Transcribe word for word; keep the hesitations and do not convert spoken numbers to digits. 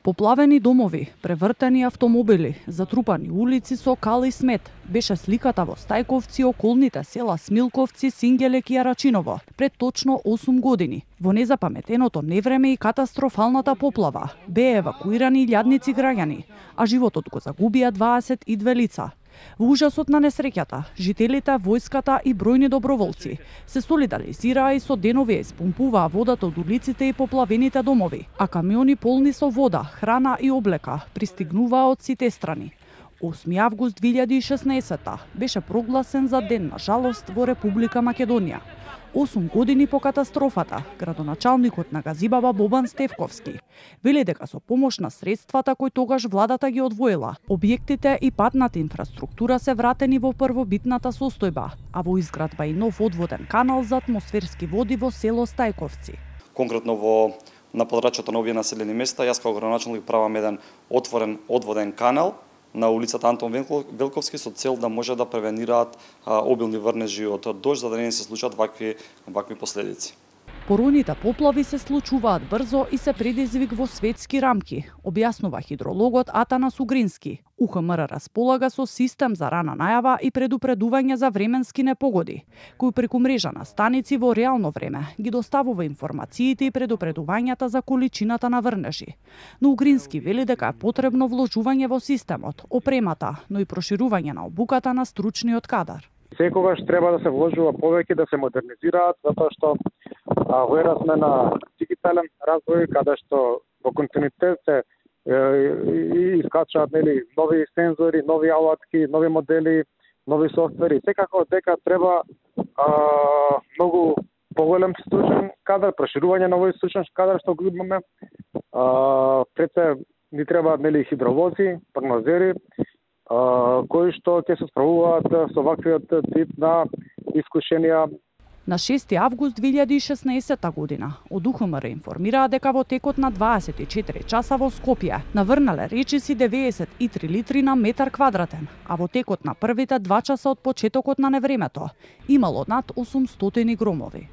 Поплавени домови, превртени автомобили, затрупани улици со кал и смет, беше сликата во Стајковци, околните села Смилковци, Сингелек и Арачиново пред точно осум години. Во незапаметеното невреме и катастрофалната поплава беа евакуирани илјадници граѓани, а животот го загубија дваесет и две лица. Во ужасот на несреќата, жителите, војската и бројни доброволци се солидаризираа и со денови испумпуваа водата од улиците и поплавените домови, а камиони полни со вода, храна и облека пристигнуваа од сите страни. осми август две илјади и шеснаесетта беше прогласен за ден на жалост во Република Македонија. осум години по катастрофата, градоначалникот на Газибаба Бобан Стефковски вели дека со помош на средствата кои тогаш владата ги одвоила, објектите и патната инфраструктура се вратени во првобитната состојба, а во изградба и нов одводен канал за атмосферски води во село Стајковци. Конкретно во на подрачјето на овие населени места, јас како градоначалник правам еден отворен одводен канал на улицата Антон Велковски со цел да може да превенираат а, обилни врнежи од дожд, за да не се случат вакви вакви последици. Поројните поплави се случуваат брзо и се предизвик во светски рамки, објаснува хидрологот Атанас Угрински. У Х М Р располага со систем за рана најава и предупредување за временски непогоди, кој преку мрежа на станици во реално време ги доставува информациите и предупредувањата за количината на врнежи. Но Угрински вели дека е потребно вложување во системот, опремата, но и проширување на обуката на стручниот кадар. Секогаш треба да се вложува повеќе, да се модернизираат, затоа што а, во ера сме на дигитален развој, каде што во континуитет се и искачаат нели нови сензори, нови алатки, нови модели, нови софтвери. Секако дека треба а, многу поголем стручен кадар, проширување на овој стручен кадар што го имаме. А, пред се ни треба нели хидровози, прогнозери, а, кои што ќе се справуваат со ваквиот тип на искушенија. На шести август две илјади и шеснаесетта година од У Х М Р информираа дека во текот на дваесет и четири часа во Скопје наврнале речиси деветдесет и три литри на метар квадратен, а во текот на првите два часа од почетокот на невремето имало над осумстотини громови.